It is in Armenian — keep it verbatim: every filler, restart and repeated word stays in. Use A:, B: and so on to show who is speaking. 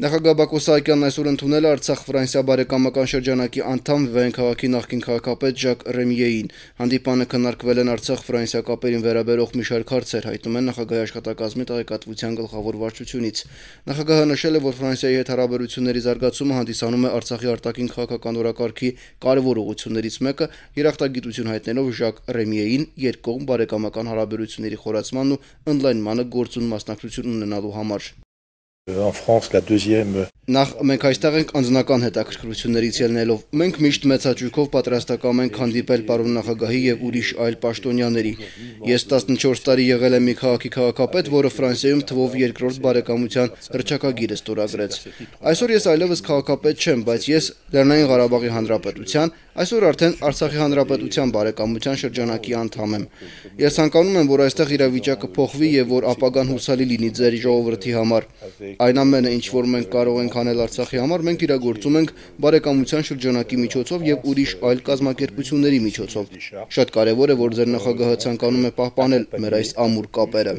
A: Նախագահ Բակո Սահակյանն այսօր ընդունել է Արցախ-Ֆրանսիա բարեկամական շրջանակի անդամ Վեն քաղաքի նախկին քաղաքապետ Ժակ Ռեմիեին։ Հանդիպանը քննարկվել են Արցախ-Ֆրանսիա կապերին վերաբերող մի շարք հարցեր, հայտնում են նախագահի աշխատակազմի տեղեկատվության գլխավոր վարչությունից։ Նախագահը նշել է, որ Ֆրանսիայի հետ հարաբերությունների զարգացումը հանդիսանում է Արցախի արտաքին քաղաքական օրակարգի կարևոր ուղղություններից մեկը, երախտագիտություն հայտնելով Ժակ Ռեմիեին երկկողմ բարեկամական հարաբերությունների խորացմանն ու ընդլայնմանը գործուն մասնակցություն ունենալու համար։
B: En France, la deuxième.
A: Նախ մենք այստեղ ենք անձնական հետաքրքրություններից ելնելով։ Մենք միշտ մեծ հաճույքով պատրաստակամ ենք հանդիպել պարոն նախագահի եւ ուրիշ այլ պաշտոնյաների։ Ես տասնչորս տարի եղել եմ մի քաղաքի քաղաքապետ, որը Ֆրանսիայում թվով երկրորդ բարեկամության հռչակագիրը ստորագրեց։ Այսօր ես այլևս քաղաքապետ չեմ, բայց ես Լեռնային Ղարաբաղի Հանրապետության, այսօր արդեն Արցախի Հանրապետության բարեկամության շրջանակի անդամ եմ։ Ես ցանկանում եմ, որ այստեղ իրավիճակը փոխվի եւ որ ապագան հուսալի լինի ձեր ժողովրդի համար։ Այն ամենը, ինչ որ մենք կարող ենք անել Արցախի համար, մենք իրագործում ենք բարեկամության շրջանակի միջոցով եւ ուրիշ այլ կազմակերպությունների միջոցով։ Շատ կարեւոր է, որ ձեր նախագահը ցանկանում է պահպանել մեր այս ամուր կապերը։